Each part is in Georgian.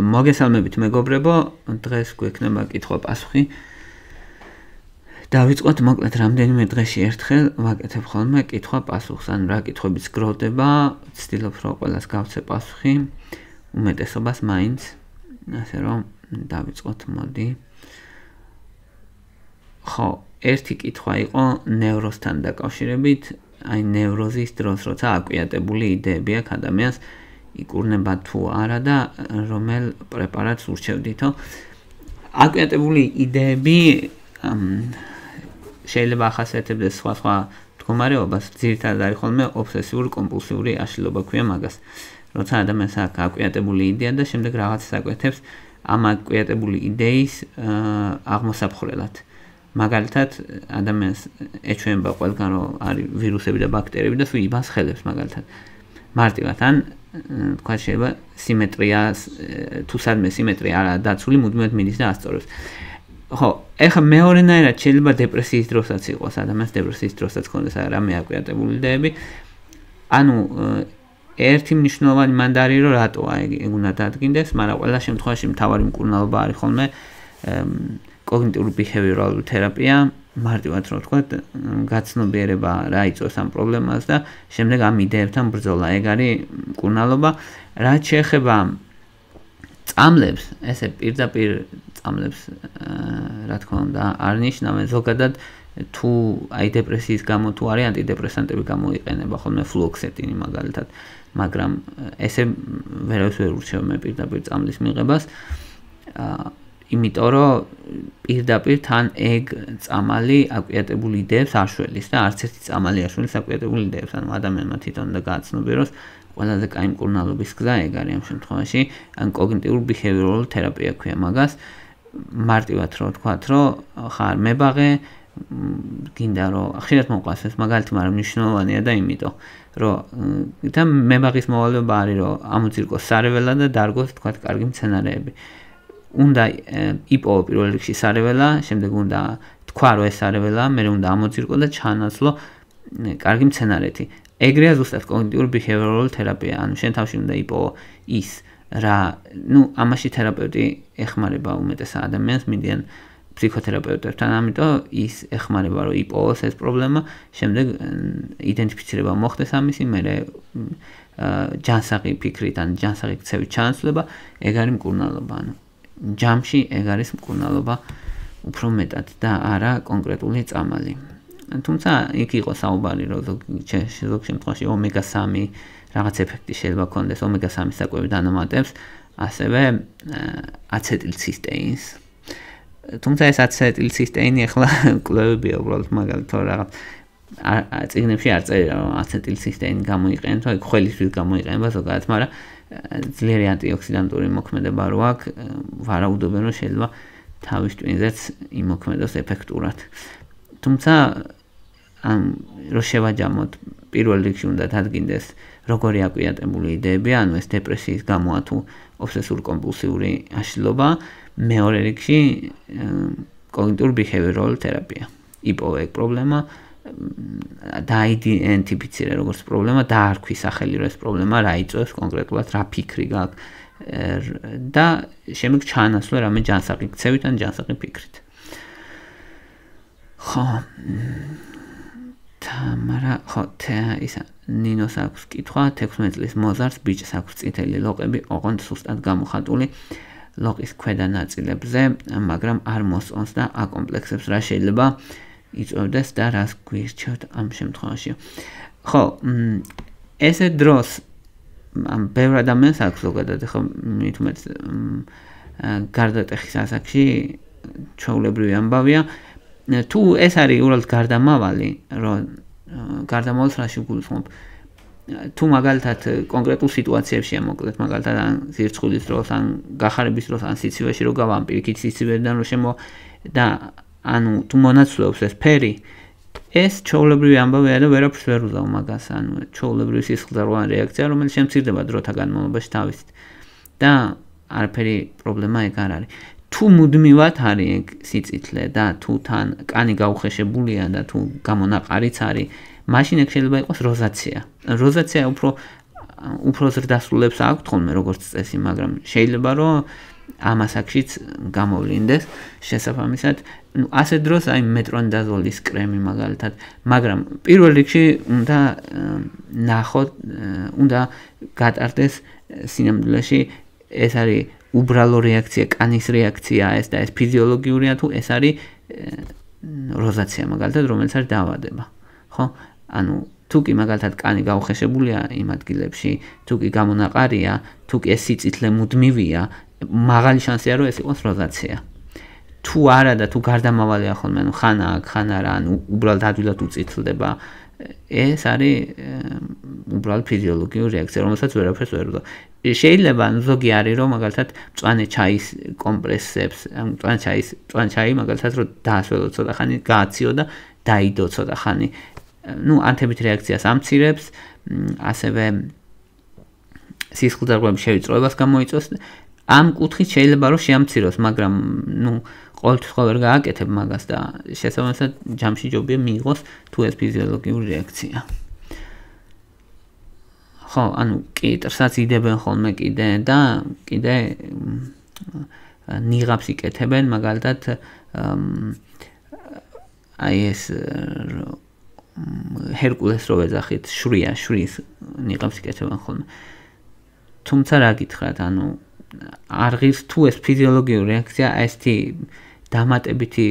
მოგესალმებით მეგობრებო, დღეს გვექნება კითხვა-პასუხი. დავიწყოთ მოკლედ რამდენიმე დღეში ერთხელ ვაკეთებ ხოლმე კითხვა-პასუხს, ან რა კითხვებიც გროვდება, ვცდილობ რომ ყველას გავცე პასუხი, უმეტესობას მაინც, ასე რომ დავიწყოთ, მოდი. ხო, ერთი კითხვა იყო ნევროსთან დაკავშირებით, აი ნევროზის დროს, როცა აკვიატებული იდეები აქვს ადამიანს იკურნება თუ არა და რომელ პრეპარატს ურჩევდითო. აკვიატებული იდეები შეიძლება ახასიათებდეს სხვა მდგომარეობას, ძირითადად არის ხოლმე ობსესიური კომპულსიური აშლილობა ქვია მაგას. როცა ადამიანს აქვს აკვიატებული იდეა და შემდეგ რაღაცას აკვეთებს ამ აკვიატებული იდეის აღმოსაფხრელად. მაგალითად, ადამიანს ეჩვენება ყველგან რომ არის ვირუსები და ბაქტერიები და თუ იბანს ხელებს მაგალითად. მარტივად ან თქვა შეიძლება სიმეტრიას თუ სადმე სიმეტრია არა დაცული, მუდმივად მიდის და ასწორებს. ხო, ეხლა მეორენაირად შეიძლება დეპრესიის დროსაც იყოს, ადამიანს დეპრესიის დროსაც ქონდეს რამე აკვიატებული იდეები. ანუ ერთი მნიშვნელოვანი მანდ არის რომ რატოა ეგ უნდა დადგინდეს, მაგრამ ყველა შემთხვევაში მთავარი მკურნალობა არის ხოლმე კოგნიტიური ბიჰევიორალური თერაპია, მარტივად რომ ვთქვათ, გაცნობიერება რა იწვევს ამ პრობლემას და შემდეგ ამ იდეებთან ბრძოლა. ეგ არის მკურნალობა. რაც შეეხება წამლებს, ესე პირდაპირ წამლებს, რა თქმა უნდა, არ ნიშნავენ ზოგადად თუ აი დეპრესიის გამო თუ არის ანტიდეპრესანტები გამოიყენება ხოლმე ფლუოქსეტინი მაგალითად, მაგრამ ესე ვერავის ვერ ურჩევ მე პირდაპირ წამლის მიღებას. იმიტომ რომ პირდაპირ თან ეგ წამალი აკვიატებული იდეებს აშველის და არც ერთი წამალი აშველის აკვიატებული იდეებს, ანუ ადამიანმა თვითონ და გააცნობიეროს ყველაზე კაი მკურნალობის გზა ეგ არის ამ შემთხვევაში, ან კოგნიტიური ბიჰევიორალური თერაპია ქვია მაგას. მარტივად რომ ვთქვათ, რომ ხარ მებაღე, გინდა რომ ხშირად მოყვას ეს მაგალითი, მაგრამ მნიშვნელოვანია და იმიტომ რომ და მებაღის მოვალეობა არის რომ ამოძირკოს სარეველა და დარგოს თქვათ კარგი მცენარეები. უნდა იპოვო პირველ რიგში სარეველა, შემდეგ უნდა თქვა რომ ეს სარეველაა, მერე უნდა ამოძირკო და ჩანაცვლო კარგი მცენარეთი. ეგრეა ზუსტად კოგნიტიური ბიჰევიორალური თერაპია, ანუ შენ თავში უნდა იპოვო ის რა, ამაში თერაპევტი ეხმარება უმეტეს ადამიანს, მიდიან ფსიქოთერაპევტებთან, ამიტომ ის ეხმარება რომ იპოვოს ეს პრობლემა, შემდეგ იდენტიფიცირება მოხდეს ამისი, მერე ჯანსაღი ფიქრით ან ჯანსაღი ქცევით ჩანაცვლება, ეგ არის მკურნალობა, ანუ ჯამში ეგ არის მკურნალობა უფრო მეტად და არა კონკრეტული წამალი. თუმცა იქ იყო საუბარი რომ ზოგ შემთხვევაში ომეგა-3 რაღაც ეფექტი შეიძლება ქონდეს ომეგა-3 საკვები დანამატებს, ასევე აცეტილცისტეინს. თუმცა ეს აცეტილცისტეინი ახლა კვლევებია უბრალოდ მაგალითად რაღაც წიგნებში არ წერია რომ აცეტილცისტეინი გამოიყენებს, აი ხველისთვის გამოიყენება ზოგადად, მაგრამ ძლიერი ანტიოქსიდანტური მოქმედება რო აქვს, ვარაუდობენ რომ შეიძლება თავის ტვინზეც იმოქმედოს ეფექტურად. თუმცა რო შევაჯამოთ, პირველ რიგში უნდა დადგინდეს როგორი აკვიატებული იდეებია, ანუ ეს დეპრესიის გამოა თუ ობსესური კომპულსიური აშლილობა, მეორე რიგში კოგნიტიური ბიჰევიორალური თერაპია. იპოვე ეგ პრობლემა, დაიდენტიფიცირე როგორც პრობლემა, დაარქვი სახელი რომ ეს პრობლემა რა იწვევს კონკრეტულად, რა ფიქრი გაქვს და შემდეგ ჩაანაცვლე რამე ჯანსაღი ქცევით ან ჯანსაღი ფიქრით. ხო, ხო, ისა ნინოს აქვს კითხვა, 16 წლის მოზარდს ბიჭს აქვს წითელი ლოყები, ოღონდ სუსტად გამოხატული ლოყის ქვედა ნაწილებზე, მაგრამ არ მოსწონს და აკომპლექსებს, რა შეიძლება იწვევდეს და რას გვირჩევთ ამ შემთხვევაში. ხო, ესე დროს ბევრ ადამიანს აქვს ზოგადად, ხო, მით უმეტეს გარდატეხის ასაკში ჩვეულებრივი ამბავია. თუ ეს არის უბრალოდ გარდამავალი, რომ გარდამავალს რაში გულისხმობ? თუ მაგალითად კონკრეტულ სიტუაციებშია მოკლედ, მაგალითად ან ზირცხვილის დროს, ან გახარების დროს, ან სიცივეში რო გავა, პირიქით სიცივედან რო შემო და ანუ თუ მონაცვლეობს ეს ფერი, ეს ჩვეულებრივი ამბავია და ვერაფერს ვერ უზავ მაგას, ანუ ჩვეულებრივი სისხლძარღვოვანი რეაქცია, რომელიც შემცირდება დროთა განმავლობაში თავისით და არაფერი პრობლემა ეგ არ არის. თუ მუდმივად არის ეგ სიწითლე და თუ თან კანი გაუხეშებულია და თუ გამონაყარიც არის, მაშინ ეგ შეიძლება იყოს როზაცია. როზაცია უფრო უფრო ზრდასრულებს აქვთ ხოლმე როგორც წესი, მაგრამ შეიძლება რომ ამ ასაკშიც გამოვლინდეს შესაბამისად, ასე დროს აი მეტრონიდაზოლის კრემი მაგალითად, მაგრამ პირველ რიგში უნდა ნახოთ, უნდა გატარდეს სინამდვილეში ეს არის უბრალო რეაქცია, კანის რეაქციაა ეს და ეს ფიზიოლოგიურია თუ ეს არის როზაცია მაგალითად, რომელიც არის დაავადება. ხო? ანუ თუ კი მაგალითად კანი გაუხეშებულია იმ ადგილებში, თუ კი გამონაყარია, თუ კი ეს სიწითლე მუდმივია, მაღალი შანსია რომ ეს იყოს როზაცია. თუ არა და თუ გარდამავალია ხოლმე, ანუ ხან აქ, ხან არა, ანუ უბრალოდ ადვილად უწითლდება, ეს არის უბრალოდ ფიზიოლოგიური რეაქცია, რომელსაც ვერაფერს ვერ ვდო. შეიძლება ზოგი არის რომ მაგალითად მწვანე ჩაის კომპრესებს, მწვანე ჩაი მაგალითად რომ დაასველო ცოტა ხანი, გააციო და დაიდო ცოტა ხანი. ანთებით რეაქციას ამცირებს, ასევე სისხლძარღვების შევიწროებას გამოიწვევს. ამ კუთხით შეიძლება რომ შეამციროს, მაგრამ ყოველთვის ხო ვერ გააკეთებ მაგას და შესაბამისად ჯამში ჯობია მიიღოს თუ ეს ფიზიოლოგიური რეაქცია. ხო, ანუ კიტრსაც იდებენ ხოლმე კიდე და კიდე ნიღაბს იკეთებენ, მაგალითად აი ეს ჰერკულეს რო ვეძახით, შვრიის ნიღაბს იკეთებენ ხოლმე. თუმცა რა გითხრათ, ანუ არ ღირს თუ ეს ფიზიოლოგიური რეაქცია, ესეთი დამატებითი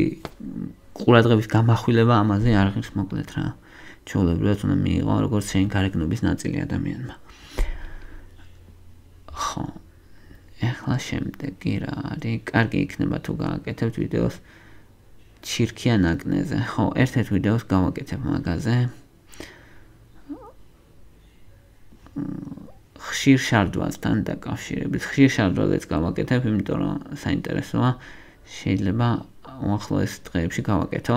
ყურადღების გამახვილება ამაზე არ ღირს მოკლედ რა. ჩვეულებრივად უნდა მიიღო როგორც შენი გარეგნობის ნაწილი ადამიანმა. ხო. ეხლა შემდეგი რა არის? კარგი იქნება თუ გააკეთებთ ვიდეოს ჩირქიან აკნეზე. ხო, ერთ-ერთ ვიდეოს გავაკეთებ მაგაზე. ხშირ შარდვასთან დაკავშირებით. ხშირ შარდვაზეც გავაკეთებ, იმიტომ რომ საინტერესოა. შეიძლება უახლოეს დღეებში გავაკეთო.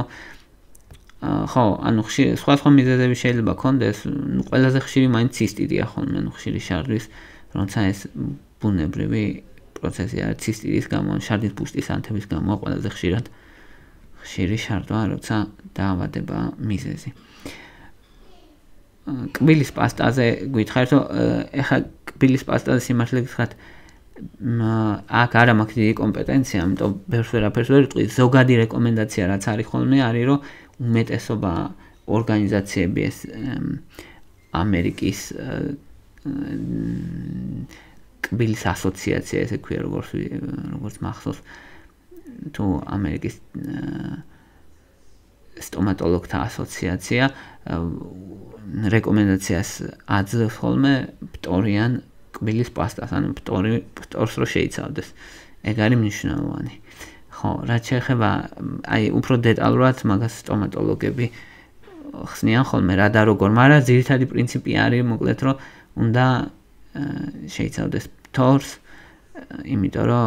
ხო, ანუ სხვა მიზეზები შეიძლება ქონდეს, ყველაზე ხშირი მაინც ცისტიტია ხოლმე, ხშირი შარდვის, როცა ეს ბუნებრივი პროცესი არის ცისტიტის გამო, შარდის ბუშტის ანთების გამო ყველაზე ხშირად ხშირი შარდვა, როცა დაავადება მიზეზი. კბილის პასტაზე გითხარით, რომ ეხლა კბილის პასტაზე სიმართლე გითხრათ, აქ არა მაქვს დიდი კომპეტენცია, ამიტომ ვერაფერს ვერ ვიტყვი. ზოგადი რეკომენდაცია რაც არის ხოლმე, არის რომ უმეტესობა ორგანიზაციები ეს ამერიკის კბილის ასოციაცია, ესე ქვია როგორც მახსოვს, თუ ამერიკის სტომატოლოგთა ასოციაცია რეკომენდაციას აძლევს ხოლმე ფტორიან კბილის პასტას, ანუ ფტორს რო შეიცავდეს. ეგ არის მნიშვნელოვანი. ხო, რაც შეეხება აი უფრო დეტალურად მაგას სტომატოლოგები ხსნიან ხოლმე რა და როგორ, მაგრამ ძირითადი პრინციპი არის მოკლედ რომ უნდა შეიცავდეს ფტორს, იმიტომ რომ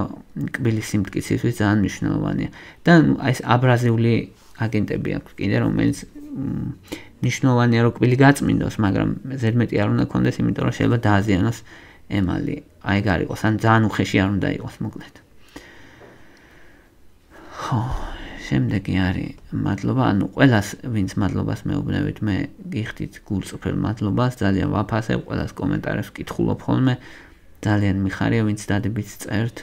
კბილის სიმტკიცისთვის ძალიან მნიშვნელოვანია. და აი ეს აბრაზიული აგენტები აქვს კიდე, რომელიც მნიშვნელოვანია რომ კბილი გაწმინდოს, მაგრამ ზედმეტი არ უნდა კონდეს, იმიტომ რომ შეიძლება დააზიანოს ემალი. აი ეგ არ იყოს, ან ძალიან უხეში არ უნდა იყოს მოკლედ. ხო, შემდეგი არის მადლობა, ანუ ყველას ვინც მადლობას მეუბნებით, მე გიხდით გულწრფელ მადლობას, ძალიან ვაფასებ, ყველას კომენტარებს ვკითხულობ ხოლმე, ძალიან მიხარია ვინც დადებით წერთ.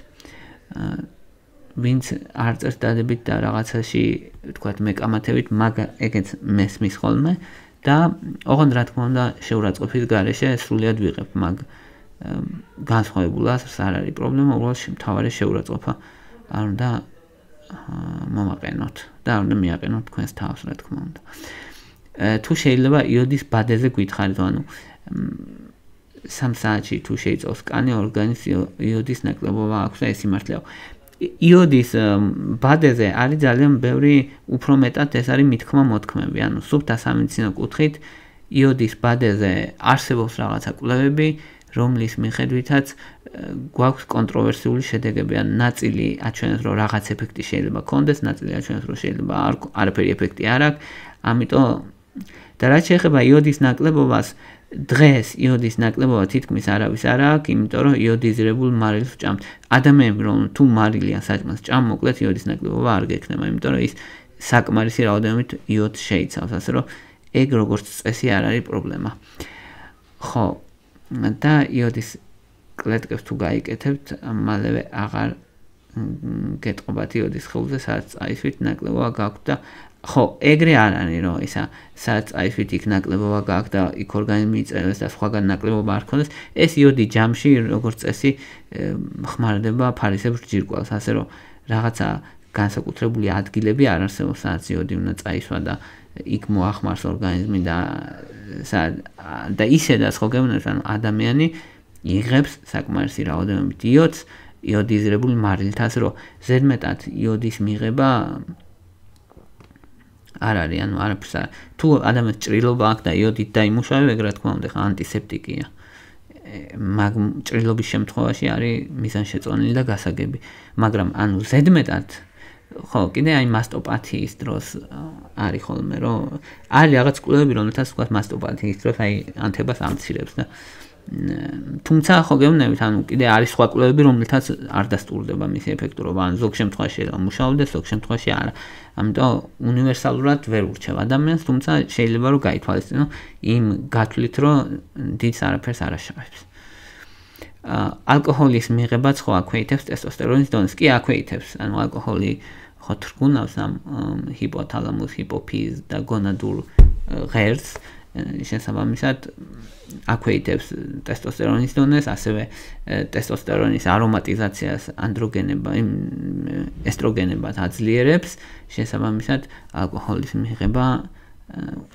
ვინც არ წერთ დადებით და რაღაცაში თქვათ მეკამათებით, ეგეც მესმის ხოლმე და ოღონდ რა თქმა უნდა შეურაცხყოფის გარეშე სრულიად ვიღებ მაგ განსხვავებულას არ არის პრობლემა, უბრალოდ მთავარი შეურაცხყოფა არ უნდა მომაყენოთ და არ უნდა მიაყენოთ თქვენს თავს, რა თქმა უნდა. თუ შეიძლება იოდის ბადეზე გითხარით, ანუ 3 საათში თუ შეიწოვს კანი, ორგანიზმს იოდის ნაკლებობა აქვს და ეს სიმართლეა. იოდის ბადეზე არის ძალიან ბევრი, უფრო მეტად ეს არის მითქმა-მოთქმები, ანუ სუფთა სამედიცინო კუთხით იოდის ბადეზე არსებობს რაღაცა კვლევები, რომლის მიხედვითაც გვაქვს კონტროვერსიული შედეგები, ან ნაწილი აჩვენებს, რომ რაღაც ეფექტი შეიძლება კონდეს, ნაწილი აჩვენებს, რომ შეიძლება არაფერი ეფექტი არ აქვს. ამიტომ და რაც შეეხება იოდის ნაკლებობას, დღეს იოდის ნაკლებობა თითქმის არავის არ აქვს, იმიტომ რომ იოდიზირებულ მარილს ვჭამთ. ადამიანები რომ თუ მარილი ან საჭმელს ჭამ, მოკლედ იოდის ნაკლებობა არ გექნება, იმიტომ რომ ის საკმარისი რაოდენობით იოდს შეიცავს, ასე რომ ეგ როგორც წესი არ არის პრობლემა. ხო, და იოდის კლეტკებს თუ გაიკეთებთ, მალევე აღარ გეტყობათ იოდის ხეულზე, სადაც წაისვით ნაკლებობა გაქვთ და ხო, ეგრე არ არის, რომ ისა სადაც წაისვით იქ ნაკლებობა გაქვთ და იქ ორგანიზმი იწერებს და სხვაგან ნაკლებობა არ ქონდეს, ეს იოდი ჯამში როგორც წესი ხმარდება ფარისებრ ჯირკვალს, ასე რომ რაღაცა განსაკუთრებული ადგილები არ არსებობს, სადაც იოდი უნდა წაისვა და იქ მოახმარს ორგანიზმი და ისედაც ხო გეუბნებთ, ანუ ადამიანი იღებს საკმარისი რაოდენობით იოდს იოდიზირებული მარილით, ასე რომ ზედმეტად იოდის მიღება არ არის, ანუ არაფერს არ. თუ ადამიანს ჭრილობა აქვს და იოდით დაიმუშავება, ეგ რა თქმა უნდა, ხა ანტისეპტიკია. მაგ ჭრილობის შემთხვევაში არის მიზანშეწონილი და გასაგები. მაგრამ ანუ ზედმეტად ხო, კიდე აი მასტოპათიის დროს არის ხოლმე, რომ არის რაღაც კვლევები, რომელთაც თქვა მასტოპათიის დროს აი ანთებას ამცირებს და თუმცა ხო გეუბნებით, ანუ კიდე არის სხვა კვლევები, რომელთაც არ დასტურდება მისი ეფექტურობა, ან ზოგ შემთხვევაში შეიძლება მუშაობდეს, ზოგ შემთხვევაში არა. ამიტომ უნივერსალურად ვერ ურჩევ ადამიანს, თუმცა შეიძლება რომ გაითვალისწინო იმ გათვლით, რომ დიდს არაფერს არ აშავებს. ალკოჰოლის მიღებაც ხო აქვეითებს ტესტოსტერონის დონეს, კი აქვეითებს, ანუ ალკოჰოლი ხო თრგუნავს ამ ჰიპოთალამუს, ჰიპოფიზ და გონადურ ღერს, შესაბამისად აქვეითებს ტესტოსტერონის დონეს, ასევე ტესტოსტერონის არომატიზაციას ესტროგენებად აძლიერებს, შესაბამისად ალკოჰოლის მიღება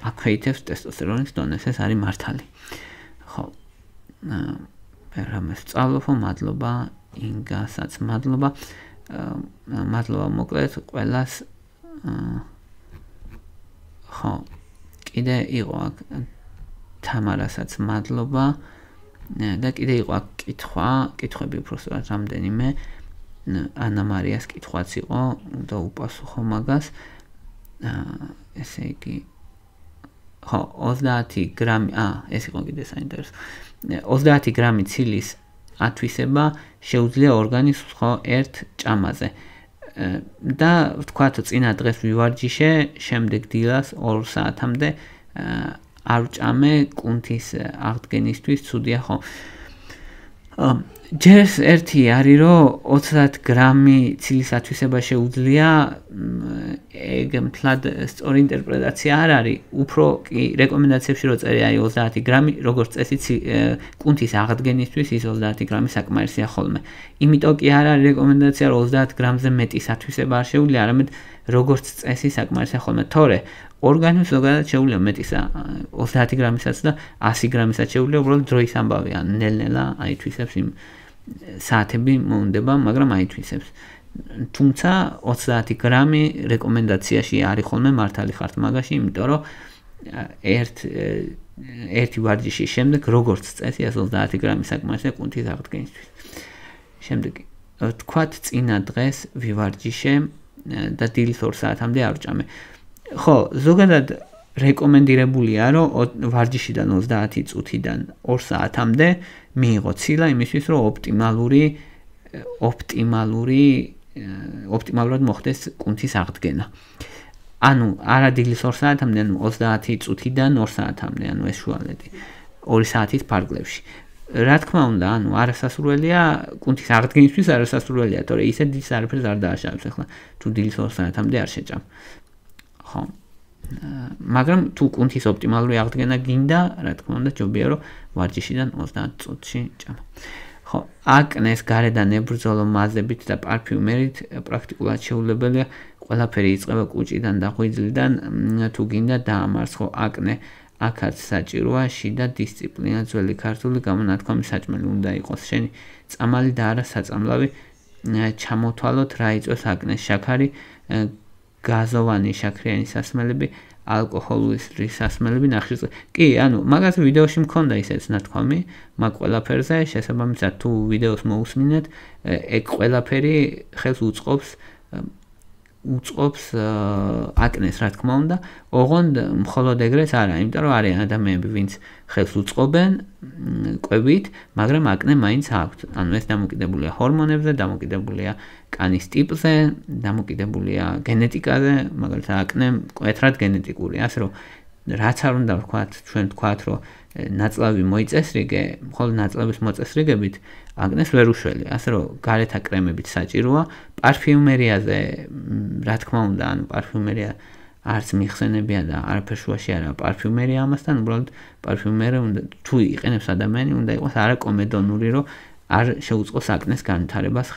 აქვეითებს ტესტოსტერონის დონეს, ეს არის მართალი. ხო. რამე სწავლობ, მადლობა, ინგასაც მადლობა. მადლობა მოკლედ ყველას. ხო. კიდე იყო აქ თამარასაც მადლობა და კიდე იყო აქ კითხვები უბრალოდ რამდენიმე ანა მარიას კითხვაც იყო და უპასუხო მაგას. ესე იგი ხო 30 გრამი ეს იყო კიდე საინტერესო 30 გრამი ცილის ათვისება შეუძლია ორგანიზმს ხო ერთ ჭამაზე და ვთქვათ წინა დღეს ვივარჯიშე შემდეგ დილას 2 საათამდე არ ვჭამე კუნთის აღდგენისთვის ცუდია ხო ჯერ ერთი არის რომ 30 გრამი ცილის ათვისება შეუძლია ეგ მთლად სწორი ინტერპრეტაცია არ არის უფრო კი რეკომენდაციებში რო წერია 30 გრამი როგორც წესი კუნთის აღდგენისთვის ის 30 გრამი საკმარისია ხოლმე იმიტომ კი არ არის რეკომენდაცია რომ 30 გრამზე მეტის ათვისება არ შეუძლია არამედ როგორც წესი საკმარისია ხოლმე თორე ორგანიზმს ზოგადად შეუძლია მეტისა 30 გრამისაც და 100 გრამისაც შეუძლია უბრალოდ დროის ამბავია ნელ-ნელა აითვისებს იმ საათები მოუნდება მაგრამ აითვისებს თუმცა 30 გრამი რეკომენდაციაში არის ხოლმე მართალი ხართ მაგაში იმიტომ რომ ერთი ვარჯიშის შემდეგ როგორც წესი 30 გრამი საკმარისია კუნთის აღდგენისთვის შემდეგი თქვათ წინა დღეს ვივარჯიშე და დილის 2 საათამდე არ ვჭამე ხო, ზოგადად რეკომენდირებულია, რომ ვარჯიშიდან 30 წუთიდან 2 საათამდე მიიღო ცილა იმისთვის, რომ ოპტიმალურად მოხდეს კუნთის აღდგენა. ანუ არა დილის 2 საათამდე, ანუ 30 წუთიდან 2 საათამდე, ანუ ეს შუალედი 2 საათის ფარგლებში. რა თქმა უნდა, ანუ არასასურველია კუნთის აღდგენისთვის არასასურველია, თორე ისე დილს არაფერს არ დააშავებს ახლა, თუ დილის 2 საათამდე არ შეჭამ. ხო. მაგრამ თუ კუნთის ოპტიმალური აღდგენა გინდა, რა თქმა უნდა, ჯობია რომ ვარჯიშიდან 30 წუთში ჭამა. ხო, აკნეს გარედან ებრძოლო მაზებით და პარფიუმერით პრაქტიკულად შეუძლებელია, ყველაფერი იწყება კუჭიდან და ღვიძლიდან, თუ გინდა დაამარს, ხო, აკნე აქაც საჭიროა შიდა დისციპლინა ძველი ქართული გამონათქვამი საჭმელი უნდა იყოს შენი წამალი და არა საწამლავი ჩამოთვალოთ რა იწვევს აკნეს შაქარი გაზოვანი შაქრიანი სასმელები, ალკოჰოლის სასმელები, ნახშირწყლი. კი, ანუ მაგაზე ვიდეოში მქონდა ისეც ნათქვამი, მაგ ყველაფერზე, შესაბამისად თუ ვიდეოს მოусმინეთ, ეგ ყველაფერი ხელს უწყობს აკნეს, რა თქმა უნდა, ოღონდ მხოლოდ ეგრეც არა, იმიტომ რომ არიან ადამიანები, ვინც ხელს უწყობენ კვებით, მაგრამ აკნე მაინც აქვთ. ანუ ეს დამოკიდებულია ჰორმონებზე, დამოკიდებულია კანის ტიპზე, დამოკიდებულია გენეტიკაზე, მაგალითად აკნე მკვეთრად გენეტიკურია, ასე რომ რაც არ უნდა ვთქვათ, ჩვენ ვთქვათ, რომ ნაწლავი მოიწესრიგე, მხოლოდ ნაწლავის მოწესრიგებით აკნეს ვერ უშველი, ასე რომ გარეთა კრემებით საჭიროა, პარფიუმერიაზე, რა თქმა უნდა, ანუ პარფიუმერია არც მიხსენებია და არაფერ შუაში არა პარფიუმერია ამასთან, უბრალოდ პარფიუმერია უნდა თუ იყენებს ადამიანი, უნდა იყოს არაკომედონური, რომ არ შეუწყოს აკნეს განვითარებას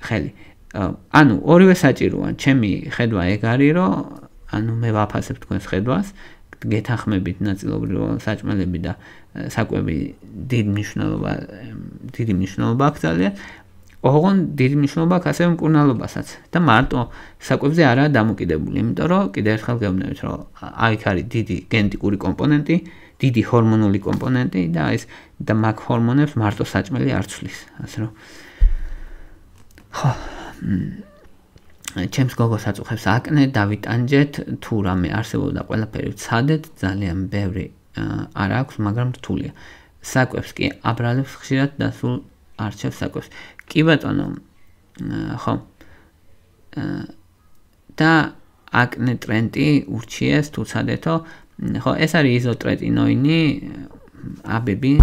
ხელი. ანუ ორივე საჭიროა, ჩემი ხედვა ეგ არის, რომ ანუ მე ვაფასებ თქვენს ხედვას, გეთანხმებით ნაწილობრივ რომ საჭმელები და საკვები დიდი მნიშვნელობა აქვს ძალიან. ოღონდ დიდი მნიშვნელობა აქვს ასევე მკურნალობასაც და მარტო საკვებზე არაა დამოკიდებული, იმიტომ რომ კიდევ ერთხელ გეუბნებით, რომ აქ არის დიდი გენეტიკური კომპონენტი, დიდი ჰორმონული კომპონენტი და ეს და მაგ ჰორმონებს მარტო საჭმელი არ ცვლის, ასე რომ ხო ჩემს გოგოს აწუხებს აკნე, დავიტანჯეთ, თუ რამე არსებობდა ყველაფერი ვცადეთ, ძალიან ბევრი არ აქვს, მაგრამ რთულია. საკვებს კი აბრალებს ხშირად და სულ არჩევს საკვებს. კი ბატონო, ხო. და აკნე ტრენდი ურჩიეს თუ ცადეთო, ხო, ეს არის იზოტრეტინოინი, აბები,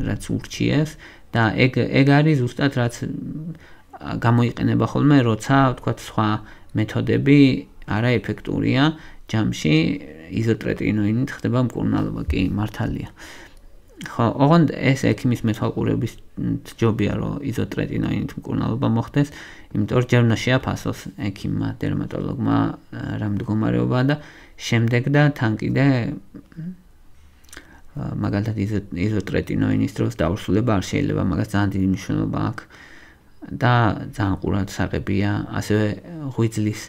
რაც ურჩიეს და ეგ არის ზუსტად რაც გამოიყენება ხოლმე, როცა ვთქვათ სხვა მეთოდები არაეფექტურია ჯამში იზოტრეტინოინით ხდება მკურნალობა, კი მართალია. ხო, ოღონდ ეს ექიმის მეთვალყურების ჯობია, რომ იზოტრეტინოინით მკურნალობა მოხდეს, იმიტომ რომ ჯერ უნდა შეაფასოს ექიმმა, დერმატოლოგმა რა მდგომარეობაა და შემდეგ და თან კიდე მაგალითად იზოტრეტინოინის დროს დაურსულება არ შეიძლება, მაგას ძალიან დიდი მნიშვნელობა აქვს. და ძალიან ყურად საყებია, ასევე ღვიძლის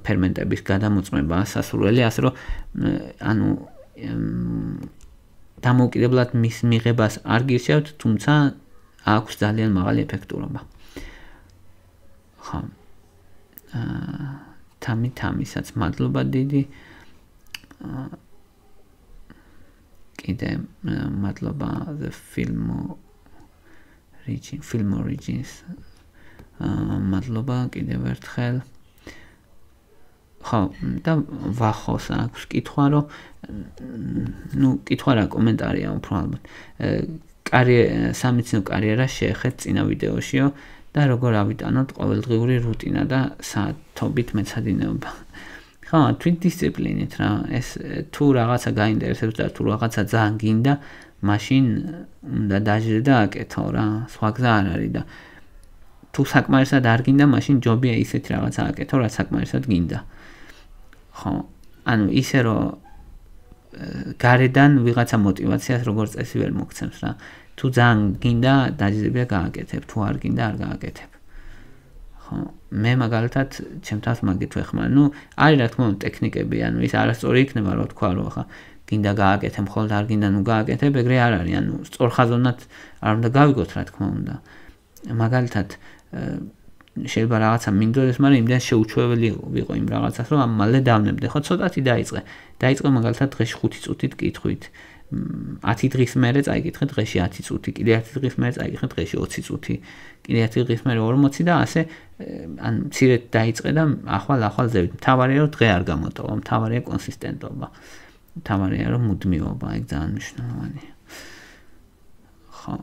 ფერმენტების გადამოწმება სასურველი, ასე რომ ანუ დამოუკიდებლად მის მიღებას არ გირჩევთ, თუმცა აქვს ძალიან მაღალი ეფექტურობა. ხო. თამისაც მადლობა დიდი. კიდე მადლობა the Film Origins. მადლობა კიდევ ერთხელ. ხო, და ვახოს აქვს კითხვა, რომ ნუ კითხვა რა კომენტარია უფრო ალბათ. სამეცნიერო კარიერა შეეხეთ წინა ვიდეოშიო და როგორ ავიტანოთ ყოველდღიური რუტინა და საათობით მეცადინეობა. ხო, თვითდისციპლინით რა, ეს თუ რაღაცა გაინტერესებს და თუ რაღაცა ძალიან გინდა, მაშინ უნდა დაჟრე და აკეთო რა, სხვა გზა არ არის და თუ საკმარისად არ გინდა, მაშინ ჯობია ისეთი რაღაცა აკეთო, რაც საკმარისად გინდა. ხო, ანუ ისე რომ გარედან ვიღაცა მოტივაციას როგორც წესი ვერ მოგცემს რა. თუ ძალიან გინდა, დაჟრებია გააკეთებ, თუ არ გინდა, არ გააკეთებ. ხო, მე მაგალითად ჩემთავს მაგით ვეხმარ. ნუ არის რა თქმა უნდა ტექნიკები, ანუ ის არასწორი იქნება, რა თქვა, რომ ხა გინდა გააკეთე, მხოლოდ არ გინდა, ნუ გააკეთებ, ეგრე არ არის, ანუ სწორხაზოვნად არ უნდა გავიგოთ, რა თქმა უნდა. მაგალითად შეიძლება რაღაცა მინდოდეს, მაგრამ იმდენ შეუჩვეველი ვიყო იმ რაღაცას, რომ მალე დავნებდე, ხო, ცოტათი დაიწყე მაგალითად დღეში 5 წუთით კითხვით. 10 დღის მერე წაიკითხე დღეში 10 წუთი, კიდე 10 დღის მერე წაიკითხე დღეში 20 წუთი, კიდე 10 დღის მერე 40 და ასე ან მცირედ დაიწყე და ახვალ ზევით. მთავარია რომ დღე არ გამოტოვა, მთავარია კონსისტენტობა. მთავარია რომ მუდმივობა, ეგ ძალიან მნიშვნელოვანია. ხო.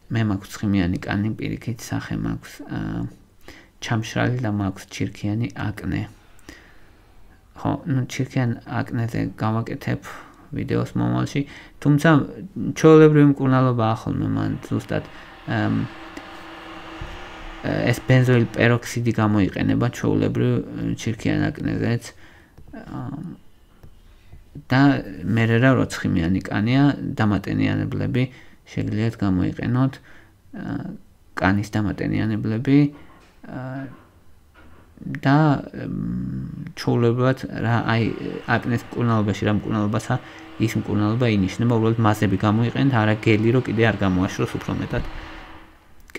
მე მაქვს ცხიმიანი კანი, პირიქით სახე მაქვს, ჩამშრალი და მაქვს ჩირქიანი აკნე. ხო, ნუ ჩირქიან აკნეზე გავაკეთებ ვიდეოს მომავალში, თუმცა ჩვეულებრივი მკურნალობა ახალმე მან ზუსტად ეს ბენზოილ პეროქსიდი გამოიყენება ჩვეულებრივ ჩირქიან აკნეზეც და მერე რა რო ცხიმიანი კანია, დამატენიანებლები შეგიძლიათ გამოიყენოთ, კანის დამატენიანებლები და ჩვეულებრივად რა აი აკნეს მკურნალობაში რა მკურნალობასა ის მკურნალობა ინიშნება, უბრალოდ მასები გამოიყენეთ, არა გელი რო კიდე არ გამოაშროს უფრო მეტად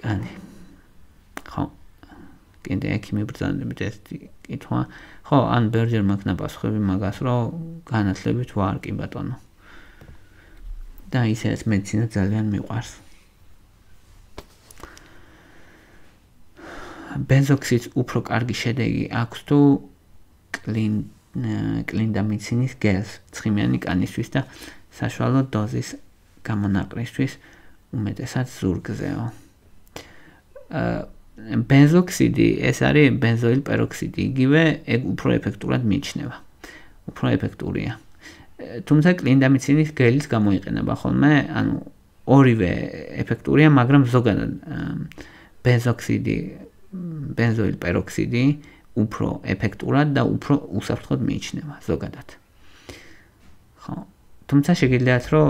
კანი. ხო. კიდე ექიმი ბრძანებით ეს კითხვა. ხო, ან ბერჯერ მაქვს ნაპასუხები მაგას, რომ განათლებით ვარ კი ბატონო. და ისეც მედიცინა ძალიან მიყვარს. ბენზოქსიდს უფრო კარგი შედეგი აქვს თუ კლინდამიცინის გელს ცხიმიანი კანისთვის და საშუალო დოზის გამონაყრისთვის უმეტესად ზურგზეო. ბენზოქსიდი ეს არის ბენზოილ პეროქსიდი, იგივე ეგ უფრო ეფექტურად მიიჩნევა. უფრო ეფექტურია. თუმცა კლინდამიცინის გელის გამოიყენება ხოლმე, ანუ ორივე ეფექტურია, მაგრამ ზოგადად ბენზოქსიდი, ბენზოილ პეროქსიდი უფრო ეფექტურად და უფრო უსაფრთხოდ მიიჩნევა ზოგადად. ხო, თუმცა შეგიძლიათ რომ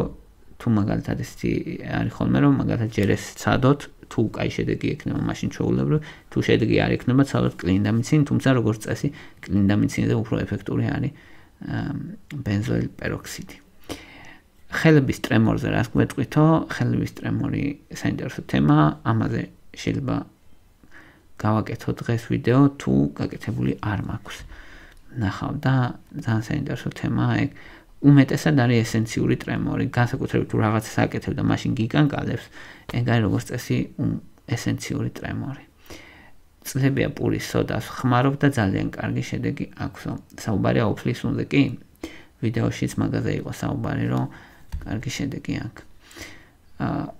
თუ მაგალითად ესეთი არის ხოლმე რომ მაგალითად ჯერ ეს ცადოთ, თუ კაი შედეგი ექნება მაშინ ჩვეულებრივ, თუ შედეგი არ ექნება ცადოთ კლინდამიცინი, თუმცა როგორც წესი კლინდამიცინზე უფრო ეფექტური არის ბენზოილ პეროქსიდი. ხელების ტრემორზე რას გვეტყვითო? ხელების ტრემორი საინტერესო თემაა, ამაზე შეიძლება გავაკეთო დღეს ვიდეო, თუ გაკეთებული არ მაქვს. ნახავ და ძალიან საინტერესო თემაა ეგ. უმეტესად არის ესენციური ტრემორი, განსაკუთრებით თუ რაღაცას აკეთებ და მაშინ გიკანკალებს, ეგ არის როგორც წესი ესენციური ტრემორი. წლებია პურის სოდას ხმარობ და ძალიან კარგი შედეგი აქვსო. საუბარია ოფლის უნდა კი? ვიდეოშიც მაგაზე იყო საუბარი, რომ კარგი შედეგი აქვს.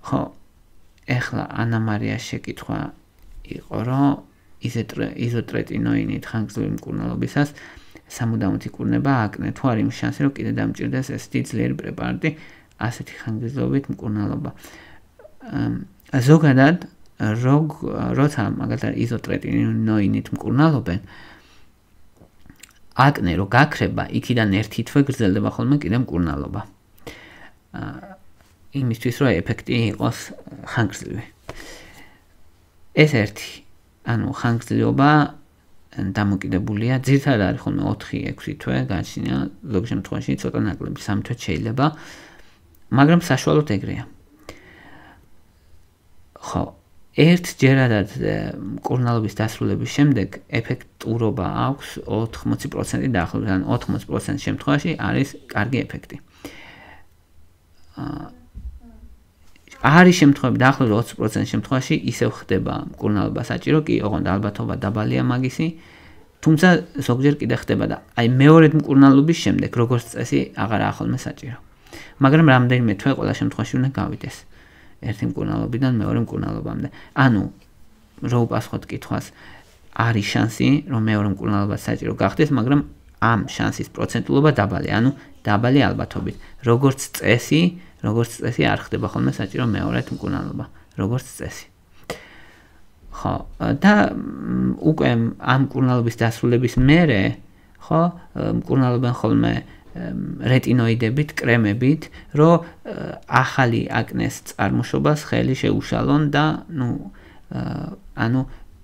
ხო, ეხლა ანა მარიას შეკითხვა იყო, რომ იზოტრეტინოინით ხანგრძლივი მკურნალობისას სამუდამოდ იკურნება აკნე, თუ არ იმის შანსი, რომ კიდე დამჭირდეს ესეთი ძლიერი პრეპარატი ასეთი ხანგრძლივობით მკურნალობა. ზოგადად როცა მაგალითად იზოტრეტინოინით მკურნალობენ, აკნე რო გაქრება, იქიდან ერთი თვე გრძელდება ხოლმე კიდე მკურნალობა. იმისთვის რომ ეფექტი იყოს ხანგრძლივი. ეს ერთი, ანუ ხანგრძლივობა დამოკიდებულია, ძირითადად არის ხოლმე 4-6 თვე, გააჩნია ზოგ შემთხვევაში ცოტა ნაკლები 3 თვე შეიძლება, მაგრამ საშუალოდ ეგრეა. ხო, ერთჯერადად მკურნალობის დასრულების შემდეგ ეფექტურობა აქვს 80% დაახლოებით, ან 80% შემთხვევაში არის კარგი ეფექტი. არის შემთხვევები დაახლოებით 20% შემთხვევაში ისევ ხდება მკურნალობა საჭირო, კი ოღონდ ალბათობა დაბალია მაგისი, თუმცა ზოგჯერ კიდე ხდება და აი მეორედ მკურნალობის შემდეგ როგორც წესი აღარაა ხოლმე საჭირო. მაგრამ რამდენიმე თვე ყველა შემთხვევაში უნდა გავიდეს. ერთი მკურნალობიდან მეორე მკურნალობამდე. ანუ რო უპასუხოთ კითხვას, არის შანსი, რომ მეორე მკურნალობა საჭირო გახდეს, მაგრამ ამ შანსის პროცენტულობა დაბალია, ანუ დაბალი ალბათობით. როგორც წესი არ ხდება ხოლმე საჭირო მეორედ მკურნალობა, როგორც წესი. ხო, და უკვე ამ მკურნალობის დასრულების მერე, ხო, მკურნალობენ ხოლმე რეტინოიდებით, კრემებით, რომ ახალი აკნეს წარმოშობას ხელი შეუშალონ და ანუ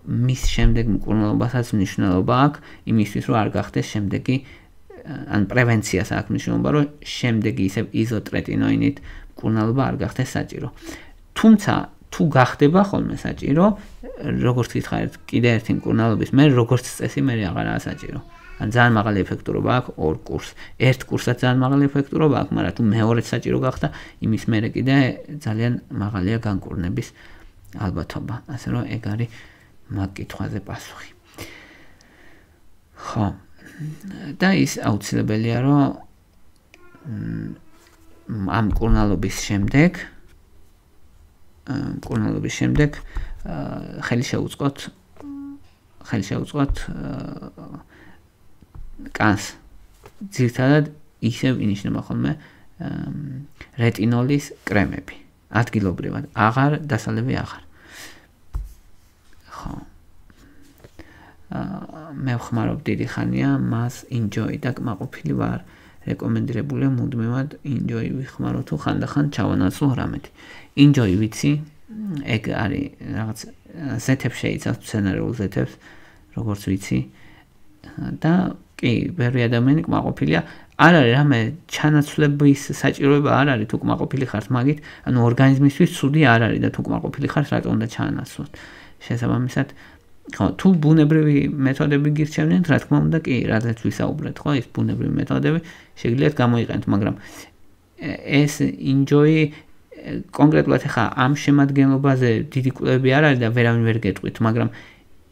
მის შემდეგ მკურნალობასაც მნიშვნელობა აქვს იმისთვის, რომ არ გახდეს შემდეგი ან პრევენციას აქვს მნიშვნელობა, რომ შემდეგი ისევ იზოტრეტინოინით მკურნალობა არ გახდეს საჭირო. თუმცა თუ გახდება ხოლმე საჭირო, როგორც გითხარით, კიდე ერთი მკურნალობის მერე როგორც წესი მე აღარაა საჭირო. ან ძალიან მაღალი ეფექტურობა აქვს ორ კურსს. ერთ კურსსაც ძალიან მაღალი ეფექტურობა აქვს, მაგრამ თუ მეორედ საჭირო გახდა, იმის მერე კიდე ძალიან მაღალია განკურნების ალბათობა. ასე რომ ეგ არის მაგ კითხვაზე პასუხი. ხო. და ის აუცილებელია, რომ ამ მკურნალობის შემდეგ ხელი შეუწყოთ კანს. ძირითადად ისევ ინიშნება ხოლმე რეტინოლის კრემები. ადგილობრივად, აღარ დასალევი აღარ. ხო. მე ვხმარობ დიდი ხანია მას enjoy და კმაყოფილი ვარ. რეკომენდირებულია მუდმივად enjoy ვიხმარო თუ ხანდახან ჩავანაცვლო რამეთი. enjoy ვიცი, ეგ არის რაღაც ზეთებს შეიცავს, სცენარიულ ზეთებს, როგორც ვიცი. და კი, ბევრი ადამიანი კმაყოფილია. არ არის რამე ჩანაცვლების საჭიროება არ არის თუ კმაყოფილი ხართ მაგით, ანუ ორგანიზმისთვის ცუდი არ არის და თუ კმაყოფილი ხართ, რატომ უნდა ჩაანაცვლოთ. შესაბამისად, ხო, თუ ბუნებრივი მეთოდები გირჩევნიათ, რა თქმა უნდა, კი, რადგან ვისაუბრეთ, ხო, ეს ბუნებრივი მეთოდები შეგიძლიათ გამოიყენოთ, მაგრამ ეს enjoy კონკრეტულად ხა ამ შემადგენლობაზე დიდი კვლევები არ არის და ვერავინ ვერ გეტყვით, მაგრამ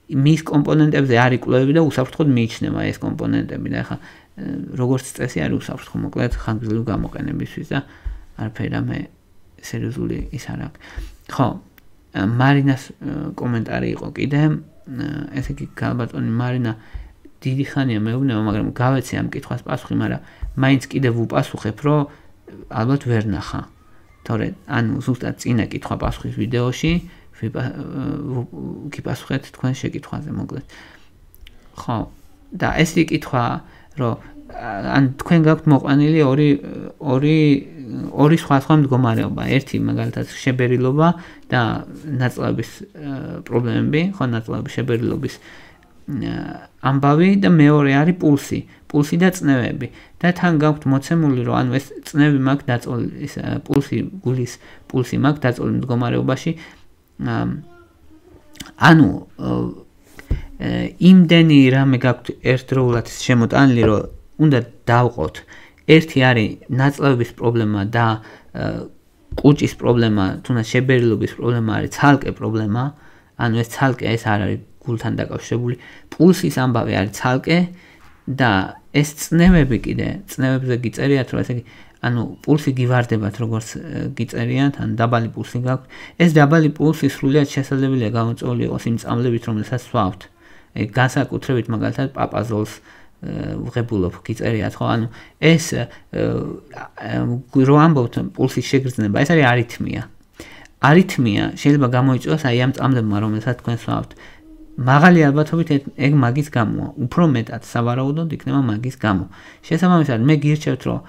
მის კომპონენტებზე არის კვლევები და უსაფრთხოდ მიიჩნევა ეს კომპონენტები და ხა როგორც წესი არ უსაუბრს ხო მოკლედ ხანგრძლივი გამოყენებისთვის და არაფერი რამე სერიოზული ის არ აქვს. ხო, მარინას კომენტარი იყო კიდე, ესე იგი გალბატონი მარინა დიდი ხანია მეუბნება, მაგრამ გავეცე ამ კითხვას პასუხი, მაგრამ მაინც კიდევ ვუპასუხებ, რომ ალბათ ვერ ნახა. თორე ანუ ზუსტად წინა კითხვა პასუხის ვიდეოში გიპასუხეთ თქვენ შეკითხვაზე მოკლედ. ხო, და ეს კითხვა, რომ ან თქვენ გაქვთ მოყვანილი ორი სხვა მდგომარეობა, ერთი მაგალითად შებერილობა და ნაწლავების პრობლემები, ხო, ნაწლავების შებერილობის ამბავი და მეორე არის პულსი და წნევები და თან გაქვთ მოცემული, რომ ანუ ეს წნევი მაქვს დაწოლილი, ის გულის პულსი მაქვს დაწოლილი მდგომარეობაში, ანუ იმდენი რამე გაქვთ ერთდროულად შემოტანილი, რომ უნდა დავყოთ. ერთი არის ნაწლავების პრობლემა და კუჭის პრობლემა, თუნდაც შებერილობის პრობლემა არის ცალკე პრობლემა, ანუ ეს ცალკე ეს არ არის გულთან დაკავშირებული. პულსის ამბავი არის ცალკე და ეს წნევები კიდე, წნევებზე გიწერიათ, რომ ესე იგი, ანუ პულსი გივარდებათ, როგორც გიწერიათ, ან დაბალი პულსი გაქვთ. ეს დაბალი პულსი სრულიად შესაძლებელია გამოწვეული იყოს იმ წამლებით, რომელსაც სვავთ. განსაკუთრებით მაგალითად პაპაზოლს ვღებულობ გიწერიათ, ხო? ანუ ეს რო ამბობთ პულსის შეგრძნება, ეს არის არითმია. არითმია შეიძლება გამოიწვიოს აი ამ წამლებმა, რომელსაც თქვენ სვავთ. მაღალი ალბათობით ეგ მაგის გამოა, უფრო მეტად სავარაუდოდ იქნება მაგის გამო. შესაბამისად, მე გირჩევთ, რომ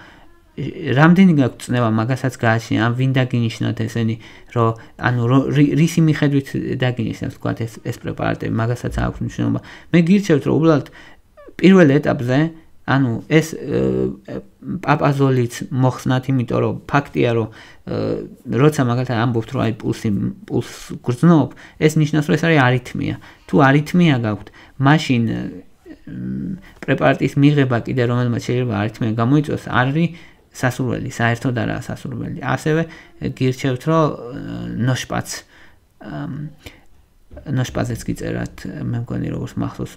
რამდენი გაქვთ წნევა მაგასაც გააჩნია, ან ვინ დაგინიშნოთ ესენი, რომ ანუ რისი მიხედვით დაგინიშნოთ, თქვათ ეს პრეპარატები, მაგასაც აქვს მნიშვნელობა. მე გირჩევთ, რომ უბრალოდ პირველ ეტაპზე, ანუ ეს პაპაზოლიც მოხსნათ, იმიტომ რომ ფაქტია, რომ როცა მაგალითად ამბობთ, რომ აი პულს გრძნობ, ეს ნიშნავს, რომ ეს არის არითმია. თუ არითმია გაქვთ, მაშინ პრეპარატის მიღება კიდე რომელმაც შეიძლება არითმია გამოიწვიოს, არ არის სასურველი, საერთოდ არაა სასურველი. ასევე გირჩევთ, რომ ნოშპაზეც გიწერათ, მე მგონი როგორც მახსოვს,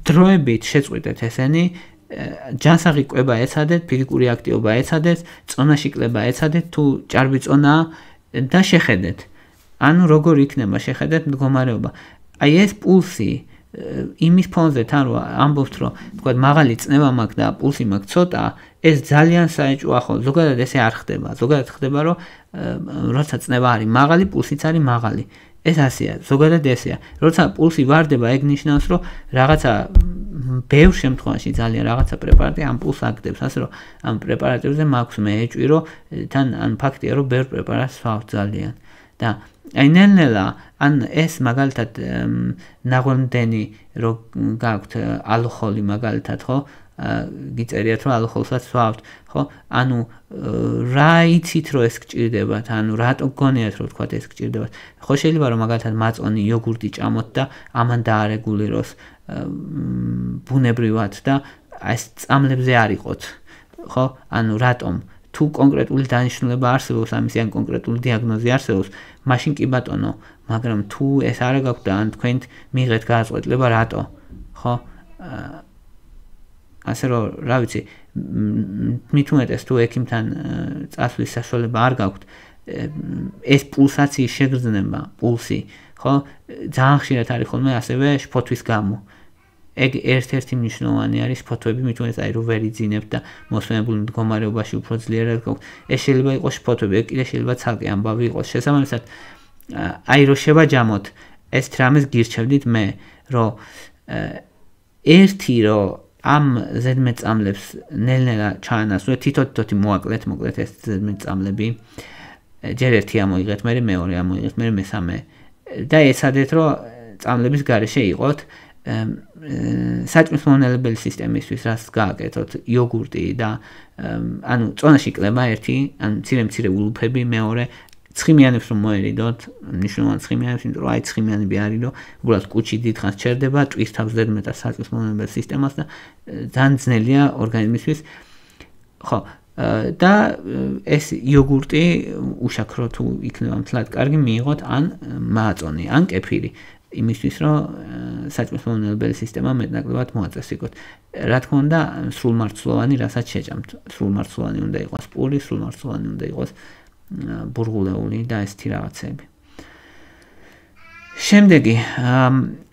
დროებით შეწყვიტეთ ესენი, ჯანსაღი კვება ეცადეთ, ფიზიკური აქტივობა ეცადეთ, წონაში კლება ეცადეთ, თუ ჭარბი წონაა და შეხედეთ. ანუ როგორ იქნება შეხედეთ მდგომარეობა. აი ეს პულსი იმის ფონზე თან რომ ამბობთ, რომ თქვათ მაღალი წნევა მაქვს და პულსი მაქვს ცოტა, ეს ძალიან საეჭვოა ხო, ზოგადად ესე არ ხდება. ზოგადად ხდება, რომ როცა წნევა არის მაღალი, პულსიც არის მაღალი. ეს ასეა, ზოგადად ესეა. როცა პულსი ვარდება, ეგ ნიშნავს, რომ რაღაცა ბევრ შემთხვევაში ძალიან რაღაცა პრეპარატი ამ პულს აგდებს, ასე რომ ამ პრეპარატებზე მაქვს მე ეჭვი, რომ თან ან ფაქტია, რომ ბევრ პრეპარატს ვსვავთ ძალიან. და აი ნელ-ნელა ან ეს მაგალითად ნაღვენდენი რო გაქვთ ალოხოლი მაგალითად, ხო? გიწერიათ, რომ ალოხოლსაც ვსვავთ, ხო? ანუ რა იცით, რომ ეს გჭირდებათ, ანუ რატო გგონიათ, რომ თქვა ეს გჭირდებათ. ხო შეიძლება რომ მაგალითად მაწონი იოგურტი ჭამოთ და ამან დაარეგულიროს ბუნებრივად და ეს წამლებზე არ იყოთ, ხო? ანუ რატომ? თუ კონკრეტული დანიშნულება არსებობს ამის ან კონკრეტული დიაგნოზი არსებობს, მაშინ კი ბატონო, მაგრამ თუ ეს არ გაქვთ და ან თქვენ მიიღეთ გადაწყვეტილება რატო, ხო? ასე რომ, რა ვიცი, მით უმეტეს თუ ექიმთან წასვლის საშუალება არ გაქვთ, ეს პულსაციის შეგრძნება, პულსი, ხო? ძალიან ხშირად არის ხოლმე ასევე შფოთვის გამო. ეგ ერთ-ერთი მნიშვნელოვანი არის შფოთვები, მით უმეტეს აი რომ ვერ იძინებთ და მოსვენებულ მდგომარეობაში უფრო ძლიერად გაქვთ. ეს შეიძლება იყოს შფოთვები, ეგ კიდე შეიძლება ცალკე ამბავი იყოს. შესაბამისად, აი რომ შევაჯამოთ ეს რამეს გირჩევდით მე, რომ ერთი რომ ამ ზედმეტწამლებს ნელ-ნელა ჩაანაცვლეთ, თითო-თითო მოაკლეთ, მოკლედ ეს ზედმეტწამლები. ჯერ ერთი ამოიღეთ, მე მეორე ამოიღეთ, მე მესამე და ეცადეთ რომ წამლების გარეშე იყოთ საჭმლის მომნელებელი სისტემისთვის, რაც გააკეთოთ იოგურტი და ანუ წონაში კლება ერთი, ანუ მცირე ულუფები, მეორე ცხიმიანებს რომ მოერიდოთ, მნიშვნელოვანი ცხიმიანებს, იმიტომ რომ აი ცხიმიანები არის, რომ უბრალოდ კუჭი დიდხანს ჩერდება, ტვირთავს ზედმეტად საჭმლის მომნელებელ სისტემას და ძალიან ძნელია ორგანიზმისთვის. ხო, და ეს იოგურტი უშაქრო თუ იქნება მთლად კარგი მიიღოთ ან მააწონი ან კეფირი იმისთვის რომ საჭმლის მომნელებელი სისტემა მეტნაკლებად მოაწესრიგოთ. Რა თქმა უნდა, სრულმარცვლოვანი რასაც შეჭამთ. სრულმარცვლოვანი უნდა იყოს პური, სრულმარცვლოვანი უნდა იყოს ბურღულეული და ესეთი რაღაცები. შემდეგი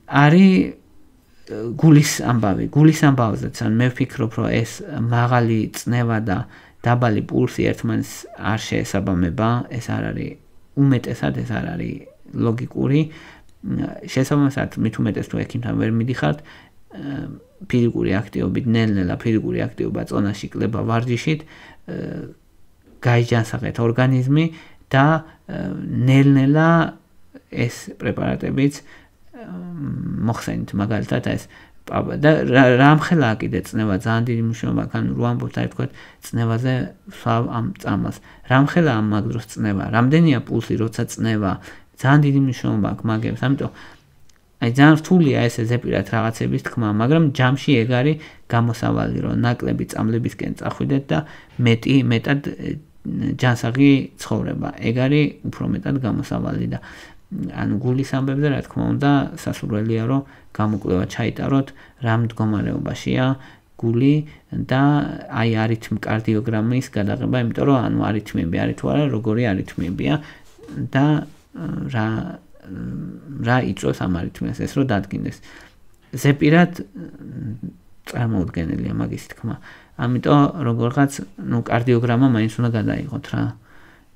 არის გულის ამბავი. გულის ამბავზეც ან მე ვფიქრობ, რომ ეს მაღალი წნევა და დაბალი პულსი ერთმანეთს არ შეესაბამება, ეს არ არის უმეტესად ეს არ არის ლოგიკური. შესაბამისად, მით უმეტეს თუ ექიმთან ვერ მიდიხართ, ფიზიკური აქტივობით, ნელ-ნელა ფიზიკური აქტივობა წონაში კლება ვარჯიშით, გაიჯანსაღეთ ორგანიზმი და ნელ-ნელა ეს პრეპარატებიც მოხსენით მაგალითად ეს და რამხელა კიდე წნევა ძალიან დიდი მნიშვნელობა აქვს, ანუ რო ამბობთ აი თქვა წნევაზე ვსვავ ამ წამას. რამხელა ამ მაგ დროს წნევა, რამდენია პულსი, როცა წნევა, ძალიან დიდი მნიშვნელობა აქვს მაგებს, ამიტომ აი ძალიან რთულია ესე ზეპირად რაღაცების თქმა, მაგრამ ჯამში ეგ არის გამოსავალი, რომ ნაკლები წამლებისკენ წახვიდეთ და მეტად ჯანსაღი ცხოვრება. ეგ არის უფრო მეტად გამოსავალი და ანუ გულის ამბებზე რა თქმა უნდა სასურველია რომ გამოკვლევა ჩაიტაროთ რა მდგომარეობაშია გული და აი კარდიოგრამის გადაღება, იმიტომ რომ ანუ არითმიები არის თუ არა, როგორი არითმიებია და რა იწვევს ამ არითმიას ეს რომ დადგინდეს. ზეპირად წარმოუდგენელია მაგის თქმა. ამიტომ როგორღაც კარდიოგრამა მაინც უნდა გადაიღოთ რა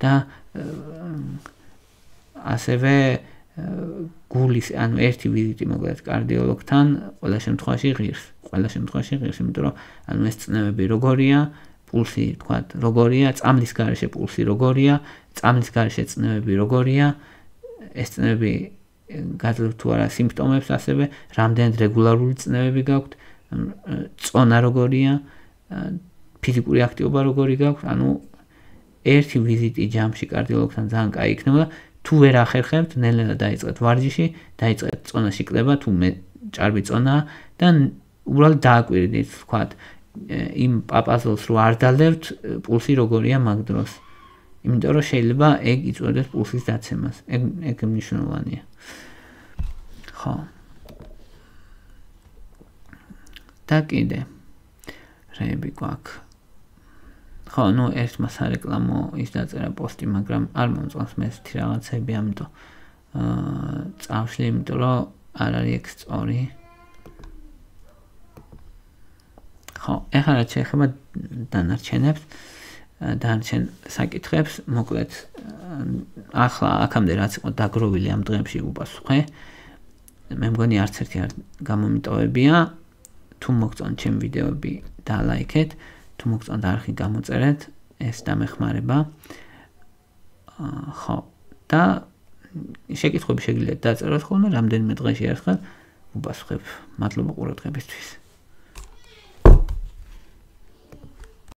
და ასევე გულის ანუ ერთი ვიზიტი მოკლედ კარდიოლოგთან ყველა შემთხვევაში ღირს, იმიტომ რომ ანუ ეს წნევები როგორია, პულსი თქვათ როგორია, წამლის გარეშე პულსი როგორია, წამლის გარეშე წნევები როგორია, ეს წნევები გაძლევთ თუ არა სიმპტომებს, ასევე რამდენად რეგულარული წნევები გაქვთ, წონა როგორია, ფიზიკური აქტივობა როგორი გაქვთ, ანუ ერთი ვიზიტი ჯამში კარდიოლოგთან ძალიან კაი იქნება. თუ ვერ ახერხებთ, ნელ-ნელა დაიწყეთ ვარჯიში, დაიწყეთ წონაში კლება, თუ ჭარბი წონაა და უბრალოდ დააკვირდით, ვთქვათ, იმ პაპაზოლს რო არ დალევთ, პულსი როგორია მაგ დროს. იმიტომ რომ შეიძლება ეგ იწვევდეს პულსის დაცემას. ეგ მნიშვნელოვანია. ხო. და კიდე რეები გვაქვს. ხო, ერთმა სარეკლამო ის დაწერა პოსტი, მაგრამ არ მომწონს მე ესეთი რაღაცები, ამიტომ წავშლი, იმიტომ რომ არ არის ეგ სწორი. ხო, ეხლა რაც შეეხება დანარჩენ საკითხებს, მოკლედ ახლა აქამდე რაც იყო დაგროვილი ამ დღეებში უპასუხე. მე მგონი არც ერთი არ გამომიტოვებია. თუ მოგწონთ ჩემი ვიდეოები, დალაიქეთ. თუ მოგწონთ არხი გამოწერეთ, ეს დამეხმარება. ხო, და შეკითხვები შეგიძლიათ დაწეროთ ხოლმე, რამდენიმე დღეში ერთხელ ვუპასუხებ. მადლობა ყურადღებისთვის.